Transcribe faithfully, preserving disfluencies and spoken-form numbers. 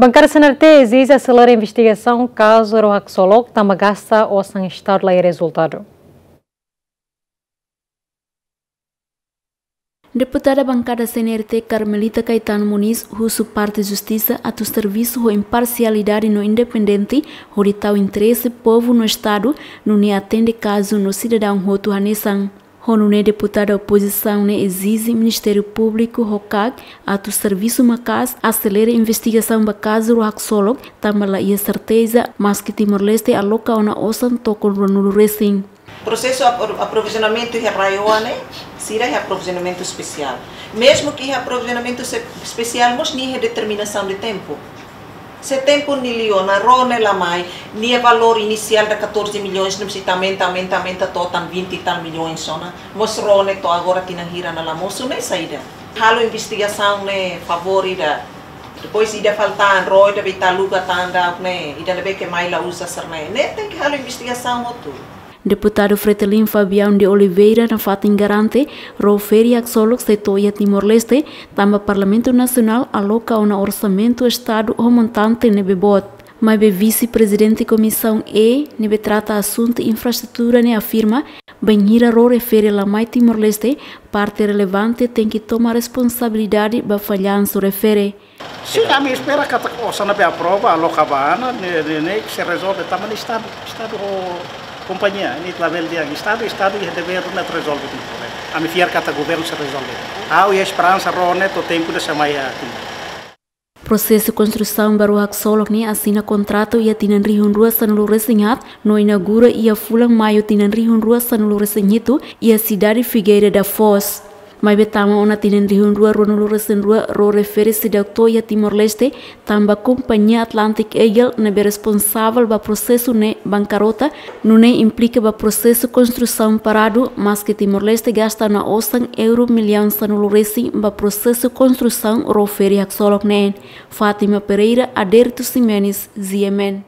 Bankada C N R T ezije aselera investigasaun kazu ró haksolok tanba gasta osan Estadu la iha rezultadu. Deputada bankada C N R T Carmelita Caetano Moniz husu parte justisa atu servisu ho imparsialidade no independente, hodi tau interese povu no Estadu, nune'e atende kazu no sidadaun hotu hanesan. Ho nune'e deputada opozisaun ne'e ezije Ministériu Públiku ho KAK atu servisu maka'as, aselera investigasaun ba kazu ró haksolok, tanba la iha serteza maske Timor-Leste aloka ona osan tokon ruanulu resin. Prosesu apro-, aprovizionamentu iha RAEOA ne'e, sira iha aprovizionamentu espesiál. Mezmu ke iha aprovizionamentu se-, espesiál, mós nia iha determinasaun de tempu. Se tempu nia liu ona, ró ne'e la mai, nia valór inisiál ida catorze milhões, ne'e mós ita aumenta, aumenta, aumenta to'o tan vinte e tal milhões ona. Mós ró ne'e to'o agora tinan hira ona la mosu, ne'e saida? Halo investigasaun ne'e favór ida. Depois ida falta an, ró ida be ita aluga tan daudaun ne'e, ida ne'ebé ke mai la uza sira-ne'e. Ne'e tenke halo investigasaun hotu. Deputadu Fretilin Fabião de Oliveira nafatin garante, ró ferik haksolok sei to'o iha Timor-Leste, tanba Parlamentu Nasionál aloka ona orsamentu Estadu ho montante ne'ebé boot. Maibé Vise-Prezidente Komisaun E, ne'ebé trata asuntu infraestrutura ne'e afirma, bainhira ró refere la mai Timor-Leste, parte relevante tenke toma responsabilidade ba fallansu refere. Sin, ami espera katak osan ne'ebé aprova, aloka ba an, ne'e, ne'e, ne'e sei rezolve tanba ne'e Estadu, Estadu ho kompañia, ne'e labele dehan Estadu, Estadu iha devér atu rezolve tuir problema. Ami fiar katak governu sei rezolve. Ha'u iha esperansa ró ne'e to'o tempu ne'e sei mai iha Timor. Prosesu konstrusaun ba ró haksolok ne'e asina kontratu iha tinan rihun rua sanulu resin haat, no inaugura iha fulan Maiu tinan rihun rua sanulu resin hitu, iha sidade Figueira da Foz. Maibé tama ona tinan rihun rua ruanulu resin rua, ró refere seidauk to'o iha Timor-Leste, tanba kompañia Atlantic Eagle ne'ebé responsavel ba prosesu ne'e bankarota, nune'e implika ba prosesu konstrusaun paradu, maske Timor-Leste gasta ona osan euro millaun sanulu resin ba prosesu konstrusaun ró ferik haksolok ne'e. Fátima Pereira, Aderito Ximenes, G M N.